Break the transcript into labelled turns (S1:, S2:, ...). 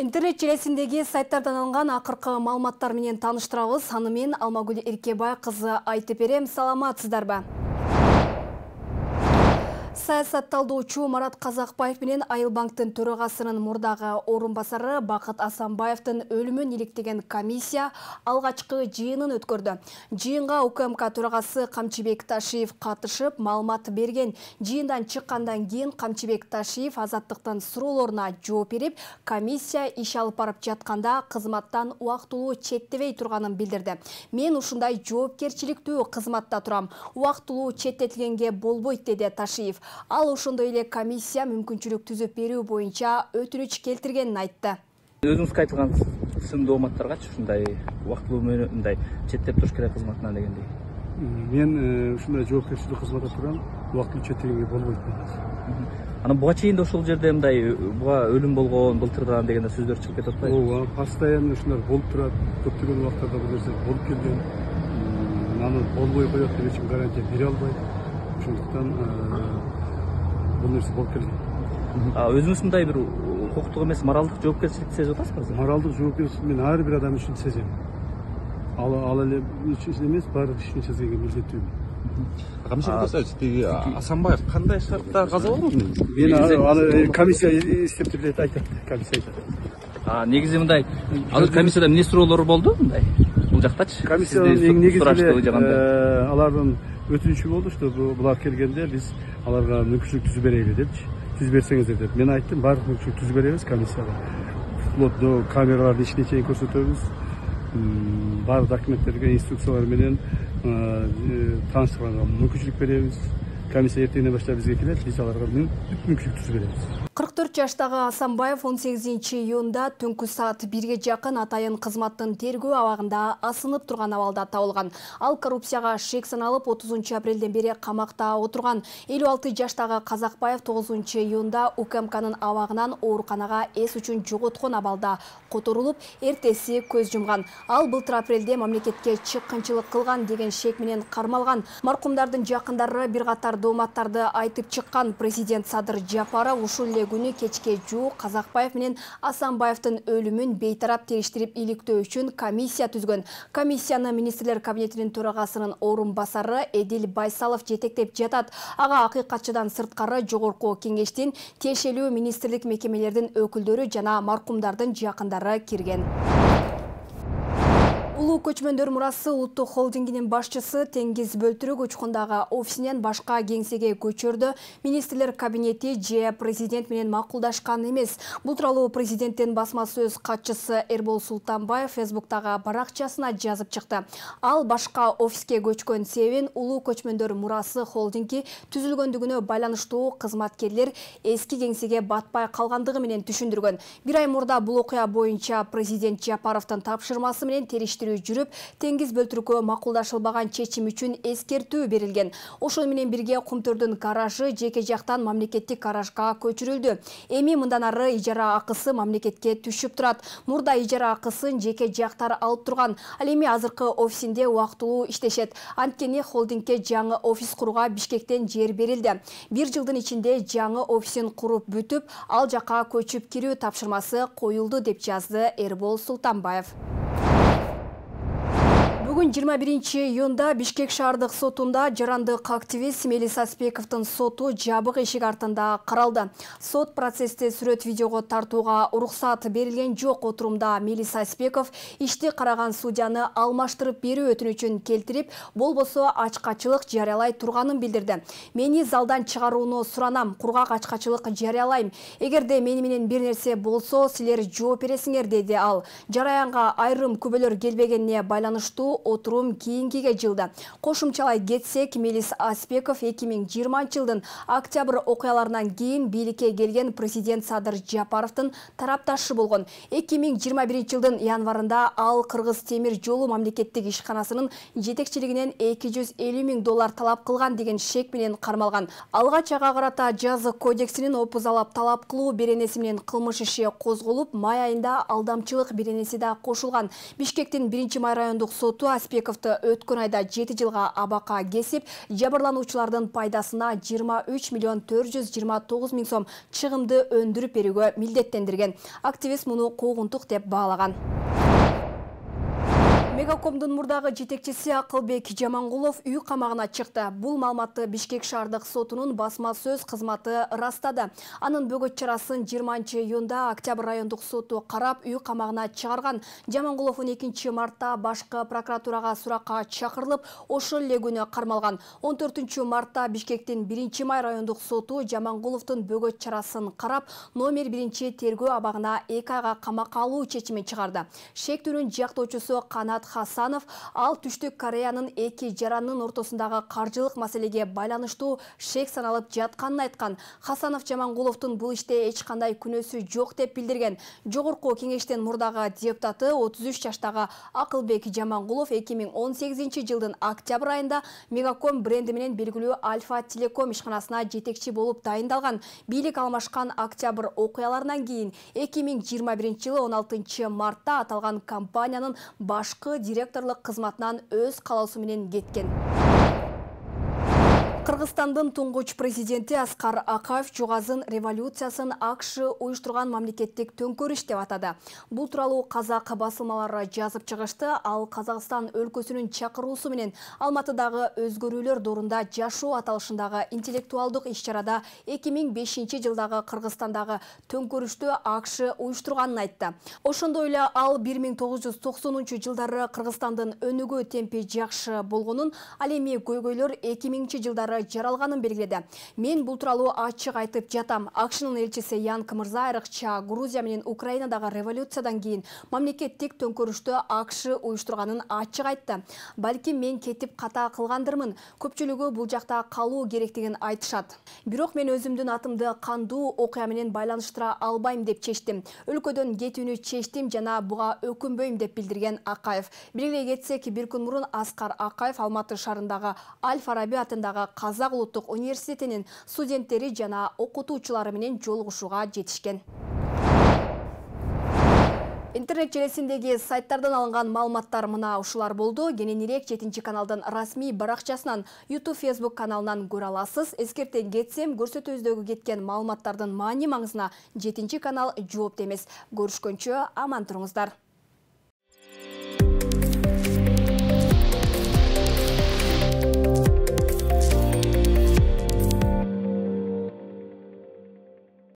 S1: Интернет желесиндеги сайттардан алынган акыркы маалыматтар менен тааныштырабыз. Аны мен Алмагүл Эркебай кызы айтып берем. Саламатсыздарбы? Саясат талдоочу Марат Казакбаев менен Айыл банктын төрагасынын мурдагы орун басары Бакыт Асанбаевдин өлүмүн иликтеген комиссия алгачкы жыйынын өткөрдү. Жыйынга УКМК төрагасы Камчыбек Ташиев катышып, маалымат берген. Жыйындан чыккандан кийин Камчыбек Ташиев азаттыктын суроолоруна жооп берип, комиссия иш алып барып жатканда кызматтан убактылуу четтебей турганын билдирди. Мен ушундай жоопкерчиликтүү кызматта турам. Убактылуу четтетилгенге болбойт, деди Ташиев. Ал ошондой эле комиссия мүмкүнчүлүк түзүп берүү боюнча өтүнүч келтиргенин айтты.
S2: Өзүңүз айтылган сындуу мааттаргачы ушундай убактылуу мындай четтеп туруш керек кызматынан дегендей.
S3: Мен ушундай жоопкерчиликтүү кызматта турам, убактылуу четтегенге болбойт.
S2: Анан буга чейин да ошол жерде мындай буга өлүм болгон былтырдан деген сөздөр чыгып кетип атпайбы?
S3: Ооба, постоянно ушулар болуп турат. Көптөгөн убактарда бул нерсе болуп келген. Аны болбой коет деп эч ким гарантия бере албайт. Ошондуктан бул нерсе болуп келген.
S2: Өзүңүз мындай бир укуктук эмес, моралдык жоопкерчиликти сезип атасызбы?
S3: Моралдык жоопкерчиликти мен ар бир адам үчүн сезем. Ал эле үчүн эмес, баардык ишин сезенге милдеттүүмүн.
S4: Камчыбек Ташиев, тиги Асанбаев кандай шартта каза болгон?
S3: Мен аны комиссия эстеп деп айтат, комиссия айтат.
S2: Негизи мындай, азыр комиссияда эмне суроолор болду мындай? Бул жактачы?
S3: Комиссиянын эң негизги алардын өтүнүчү болду, что булар келгенде биз аларга мүмкүнчүлүк түзүп берели депчи. Түзүп берсеңиздер деп. Мен айттым, баардык мүмкүнчүлүк түзүп беребиз комиссияга. Вплоть до камераларды ишине чейин көрсөтөбүз. Баардык документтерге, инструкциялар менен тааныштырганга мүмкүнчүлүк беребиз. Комиссия эртеңден баштап бизге келет, биз аларга мүмкүнчүлүк түзүп беребиз.
S1: 44 жаштагы Асанбаев 18-июнда түнкү саат 1-ге жакын атайын кызматтын тергөө абагында асынып турган абалда табылган. Ал коррупцияга шек саналып 30-апрелден бери камакта отурган. 56 жаштагы Казакбаев 9-июнда УКМКнын абагынан ооруканага эс үчүн жоготкон абалда которулуп, эртеси көз жумган. Ал былтыр апрелде мамлекетке чыккынчылык кылган деген шек менен кармалган. Маркумдардын жакындары бир катар дооматтарды айтып чыккан. Президент Садыр Жапаров ушул эле күнү кечке жуук Казакбаев менен Асанбаевдин өлүмүн бейтарап териштирип иликтөө үчүн комиссия түзгөн. Комиссияны министрлер кабинетинин төрагасынын орун басары Эдил Байсалов жетектеп жатат. Ага акыйкатчыдан сырткары жогорку кеңештин, тиешелүү министрлик мекемелердин өкүлдөрү жана маркумдардын жакындары кирген. Улуу көчмөндөр мурасы улуттук холдингинин башчысы Теңиз Бөлтүрүк учкундагы офисинен башка кеңсеге көчөрдү. Министрлер кабинети же президент менен макулдашкан эмес. Бул тууралуу президенттин басма сөз катчысы Эрбол Султанбаев Фейсбуктагы баракчасына жазып чыкты. Ал башка офиске көчкөн себебин улуу көчмөндөр мурасы холдинги түзүлгөндүгүнө байланыштуу кызматкерлер эски кеңсеге батпай калгандыгы менен түшүндүргөн. Бир ай мурда бул окуя боюнча президент Жапаровдун тапшырмасы менен териштирүү жүрүп, Теңиз Бөлтүрүккө макулдашылбаган чечим үчүн эскертүү берилген. Ошол менен бирге Кумтөрдүн гаражы жеке жактан мамлекеттик гаражга көчүрүлдү. Эми мындан ары ижара акысы мамлекетке түшүп турат. Мурда ижара акысын жеке жактар алып турган. Ал эми азыркы офисинде убактылуу иштешет. Анткени холдингке жаңы офис курууга Бишкектен жер берилди. 1 жылдын ичинде жаңы офисин куруп бүтүп, ал жакка көчүп кирүү тапшырмасы коюлду, деп жазды Эрбол Султанбаев. Бүгүн 21-июнда Бишкек шаардык сотунда жарандык активист Мелис Аспековдун соту жабык эшик артында каралды. Сот процессти сүрөт-видеого тартууга уруксат берилген жок. Отурумда Мелис Аспеков ишти караган судьяны алмаштырып берүү өтүнүчүн келтирип, болбосо ачкачылык жарыялай турганын билдирди. Мени залдан чыгарууну суранам, кургак ачкачылык жарыялайм. Эгерде мени менен бир нерсе болсо, силер жооп бересиңер, деди ал. Жараянга айрым күбөлөр келбегенине байланыштуу отурум кийинкиге жылды. Кошумчалай кетсек, Мелис Аспеков 2020 жылдын октябрь окуяларынан кийин бийликке келген президент Садыр Жапаровдун тарапташы болгон. 2021 жылдын январында ал Кыргыз темир жолу мамлекеттик ишканасынын жетекчилигинен $250,000 талап кылган деген шек менен кармалган. Алгач ага карата жаза кодексинин опузалап талап кылуу беренеси менен кылмыш иши козголуп, май айында алдамчылык беренеси да кошулган. Бишкектин 1-май райондук соту Каспиковду өткөн айда 7 жылга абакка кесип, жабырлануучулардын пайдасына 23 миллион 429 миң сом чыгымды өндүрүп берүүгө милдеттендирген. Активист муну куугунтук деп баалаган. Мегакомдун мурдагы жетекчиси Акылбек Жамангулов үй камагына чыкты. Бул маалыматты Бишкек шаардык сотунун басма сөз кызматы ырастады. Анын бөгөт чарасын 20-июнда Октябрь райондук соту карап үй камагына чыгарган. Жамангулов 12 мартта башкы прокуратурага суракка чакырылып, ошол эле күнү кармалган. 14 мартта Бишкектин 1-май райондук соту Жамангуловдун бөгөт чарасын карап, номер 1 тергөө абагына 2 айга камакка алуу чечимин чыгарды. Шектүүнүн жактоочусу Канат Хасанов ал Түштүк Кореянын эки жаранынын ортосундагы каржылык маселеге байланыштуу шек саналып жатканын айткан. Хасанов Жамангуловдун бул иште эч кандай күнөөсү жок деп билдирген. Жогорку кеңештин мурдагы депутаты 33 жаштагы Акылбек Жамангулов 2018 жылдын октябрь айында Мегаком бренди менен белгилүү Альфа Телеком ишканасына жетекчи болуп дайындалган. Бийлик алмашкан октябрь окуяларынан кийин 2021 жылы 16 мартта аталган компаниянын башкы директорлук кызматынан өз каалоосу менен кеткен. Кыргызстандын туңгуч президенти Аскар Акаев Жугазын революциясын АКШ уюштурган мамлекеттик төңкөрүш деп атады. Бул тууралуу казак басылмалары жазып чыгышты. Ал Казакстан өлкөсүнүн чакыруусу менен Алматыдагы өзгөрүүлөр доорунда жашоо аталышындагы интеллектуалдык иш-чарада 2005 жылдагы Кыргызстандагы төңкөрүштү АКШ уюштурганын айтты. Ошондой эле ал 1990 жылдары Кыргызстандын өнүгүү темпи жакшы болгонун, ал эми көйгөйлөр 2000 жылдары жаралганын белгиледи. Мен бул тууралуу ачык айтып жатам. АКШнын элчиси Янк Мырза айрыкча Грузия менен Украинадагы революциядан кийин мамлекеттик төңкөрүштү АКШ уюштурганын ачык айтты. Балким мен кетип ката кылгандырмын. Көпчүлүгү бул жакта калуу керектигин айтышат. Бирок мен өзүмдүн атымды кандуу окуя менен байланыштыра албайм деп чечтим. Өлкөдөн кетүүнү чечтим жана буга өкүнбөйм деп билдирген Акаев. Белгилей кетсек, бир күн мурун Аскар Акаев Алматы шаарындагы Аль-Фараби атындагы Казак улуттук университетинин студенттери жана окутуучулары менен жолугушууга жетишкен. Интернет желесиндеги сайттардан алынган маалыматтар мына ушулар болду. Кененирээк 7 каналдын расмий баракчасынан, YouTube, Facebook каналынан көрө аласыз. Эскертен кетсем, көрсөтүүбүздөгү кеткен маалыматтардын маани маңызына 7 канал жооп эмес. Көрүшкөнчө аман туруңуздар.